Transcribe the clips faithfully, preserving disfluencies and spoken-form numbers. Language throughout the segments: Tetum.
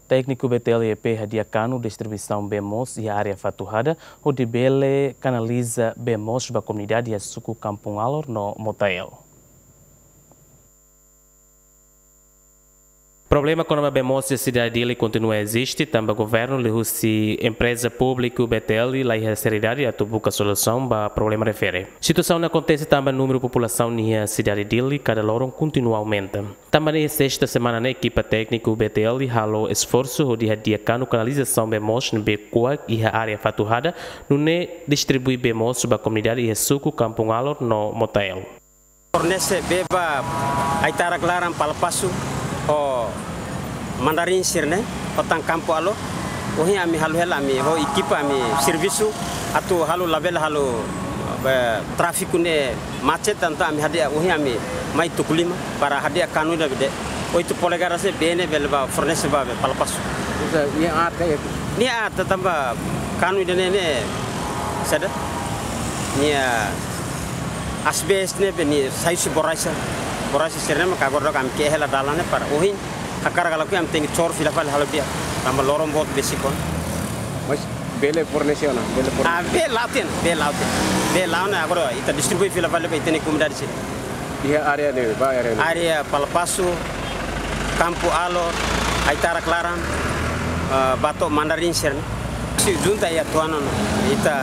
Tékniku B T L iha pé hadi'a kanu distribuisaun bee moos iha área Fatuhada, hodi bele kanaliza bee moos ba komunidade iha suku Kampung Alor no Motael. Problema kona-ba bee moos iha sidade Dili kontinua eziste, tanba governu liuhusi empreza públiku B T L la iha seriedade atu buka solusaun ba problema refere. Situasaun ne'e akontese tanba númeru populasaun iha sidade Dili kada loron kontinua aumenta. Tanba ne'e, sesta semana ne'e ekipa tékniku B T L halo esforsu hodi hadi'a kanu kanalizasaun bee moos ne'ebé kuak iha área Fatuhada, nune'e distribui bee moos ba komunidade iha suku Kampung Alor no Motael. Fornese bee ba Aitarak Laran, Palapasu, ho Mandarin sira-ne'e, ho tan Kampung Alor. Ohin ami halo hela, ami ho ekipa ami servisu atu halo labele halo, eh, tráfiku ne'e macet, entaun ami hadi'a, ohin ami mai tuku lima para hadi'a kanu ida be de'it oito polegadas ne'e, bee ne'e bele ba fornese ba bee Palapasu. Nia aat ka? Nia aat, tanba kanu ida-ne'e ne'e saida, nia asbes ne'ebé nia sai husi borraxa. Borraxa sira-ne'e mak agora daudaun ami ke'e hela dalan ne'e para ohin hakarak ka lakohi ami tenke cor fila fali halo di'ak. Tanba loron boot besik ona. Mas bele fornese ona, bele fornese. Ah, bee la'o tiha ona, bee la'o tiha ona. Bee la'o ona, agora ita distribui fila fali ba ita-nia komunidade sira. Iha área ne'e, ba área ne'e. Área Palapasu, Kampung Alor, Aitarak Laran, eh, ba to'o Mandarin sira-ne'e. Sei junta iha tuan ona. Ita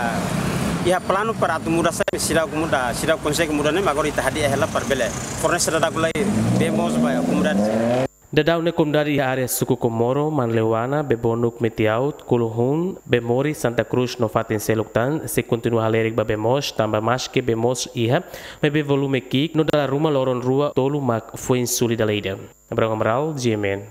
iha planu para atu muda sai, seidauk muda, seidauk konsege muda ne'e, agora ita hadi'a hela para bele fornese daudauk lai bee moos ba komunidade sira. Daudaun ne'e komunidade iha área suku Komoro, Manleuana, Bebonuk, Metiaut, Kuluhun, Bemori, Santa Cruz no fatin seluk tan sei kontinua halerik ba bee moos, tanba maske bee moos iha, maibé volume ki'ik no dala ruma loron rua tolu mak foin suli dala ida. Abraham Amaral, G M N.